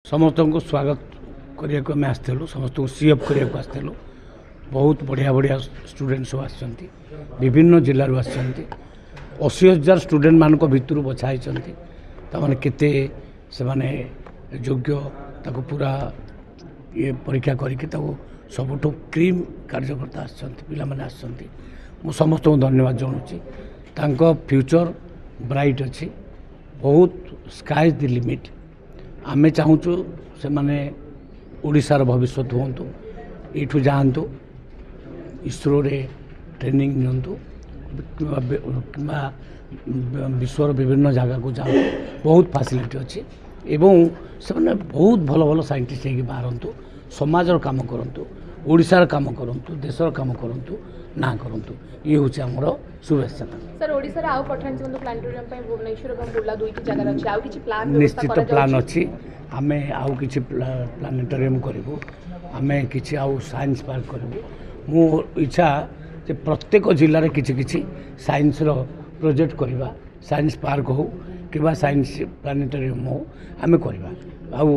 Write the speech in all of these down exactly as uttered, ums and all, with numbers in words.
ସମସ୍ତଙ୍କୁ ସ୍ୱାଗତ କରିବାକୁ ଆମେ ଆସିଥିଲୁ, ସମସ୍ତଙ୍କୁ ସି ଅପ୍ କରିବାକୁ ଆସିଥିଲୁ। ବହୁତ ବଢ଼ିଆ ବଢ଼ିଆ ଷ୍ଟୁଡେଣ୍ଟ ସବୁ ଆସିଛନ୍ତି, ବିଭିନ୍ନ ଜିଲ୍ଲାରୁ ଆସିଛନ୍ତି। ଅଶୀ ହଜାର ଷ୍ଟୁଡେଣ୍ଟମାନଙ୍କ ଭିତରୁ ବଛା ହେଇଛନ୍ତି। ତାମାନେ କେତେ ସେମାନେ ଯୋଗ୍ୟ, ତାକୁ ପୁରା ଇଏ ପରୀକ୍ଷା କରିକି ତାକୁ ସବୁଠୁ କ୍ରିମ୍ କାର୍ଯ୍ୟକର୍ତ୍ତା ଆସିଛନ୍ତି, ପିଲାମାନେ ଆସିଛନ୍ତି। ମୁଁ ସମସ୍ତଙ୍କୁ ଧନ୍ୟବାଦ ଜଣାଉଛି। ତାଙ୍କ ଫ୍ୟୁଚର୍ ବ୍ରାଇଟ୍ ଅଛି, ବହୁତ ସ୍କାଏ ଦି ଲିମିଟ୍। ଆମେ ଚାହୁଁଛୁ ସେମାନେ ଓଡ଼ିଶାର ଭବିଷ୍ୟତ ହୁଅନ୍ତୁ, ଏଇଠୁ ଯାଆନ୍ତୁ, ଇସ୍ରୋରେ ଟ୍ରେନିଂ ନିଅନ୍ତୁ କିମ୍ବା ବିଶ୍ୱର ବିଭିନ୍ନ ଜାଗାକୁ ଯାଆନ୍ତୁ। ବହୁତ ଫାସିଲିଟି ଅଛି ଏବଂ ସେମାନେ ବହୁତ ଭଲ ଭଲ ସାଇଣ୍ଟିଷ୍ଟ ହେଇକି ବାହାରନ୍ତୁ, ସମାଜର କାମ କରନ୍ତୁ, ଓଡ଼ିଶାର କାମ କରନ୍ତୁ, ଦେଶର କାମ କରନ୍ତୁ, ନାଁ କରନ୍ତୁ। ଇଏ ହେଉଛି ଆମର ଶୁଭେଚ୍ଛା। ସାର୍, ଓଡ଼ିଶାର ଆଉ ପଠାଣି ସାମନ୍ତ ପ୍ଲାନେଟୋରିୟମ୍ ପାଇଁ ଭୁବନେଶ୍ୱର ଏବଂ ବୁର୍ଲା ଦୁଇଟି ଜାଗାରେ ଅଛି, ଆଉ କିଛି ପ୍ଲାନ୍? ନିଶ୍ଚିତ ପ୍ଲାନ୍ ଅଛି। ଆମେ ଆଉ କିଛି ପ୍ଲାନେଟୋରିୟମ୍ କରିବୁ, ଆମେ କିଛି ଆଉ ସାଇନ୍ସ ପାର୍କ କରିବୁ। ମୁଁ ଇଚ୍ଛା ଯେ ପ୍ରତ୍ୟେକ ଜିଲ୍ଲାରେ କିଛି କିଛି ସାଇନ୍ସର ପ୍ରୋଜେକ୍ଟ କରିବା, ସାଇନ୍ସ ପାର୍କ ହେଉ କିମ୍ବା ସାଇନ୍ସ ପ୍ଲାନେଟୋରିୟମ୍ ହେଉ, ଆମେ କରିବା। ଆଉ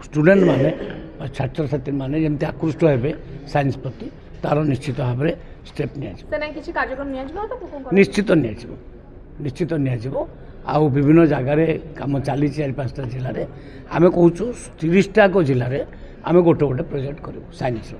ଷ୍ଟୁଡେଣ୍ଟମାନେ ବା ଛାତ୍ରଛାତ୍ରୀମାନେ ଯେମିତି ଆକୃଷ୍ଟ ହେବେ ସାଇନ୍ସ ପ୍ରତି, ତା'ର ନିଶ୍ଚିତ ଭାବରେ ଷ୍ଟେପ୍ ନିଆଯିବ। କିଛି କାର୍ଯ୍ୟକ୍ରମ ନିଆଯିବ? ନିଶ୍ଚିତ ନିଆଯିବ, ନିଶ୍ଚିତ ନିଆଯିବ। ଆଉ ବିଭିନ୍ନ ଜାଗାରେ କାମ ଚାଲିଛି, ଚାରି ପାଞ୍ଚଟା ଜିଲ୍ଲାରେ। ଆମେ କହୁଛୁ ତିରିଶଟାକ ଜିଲ୍ଲାରେ ଆମେ ଗୋଟେ ଗୋଟେ ପ୍ରୋଜେକ୍ଟ କରିବୁ ସାଇନ୍ସର।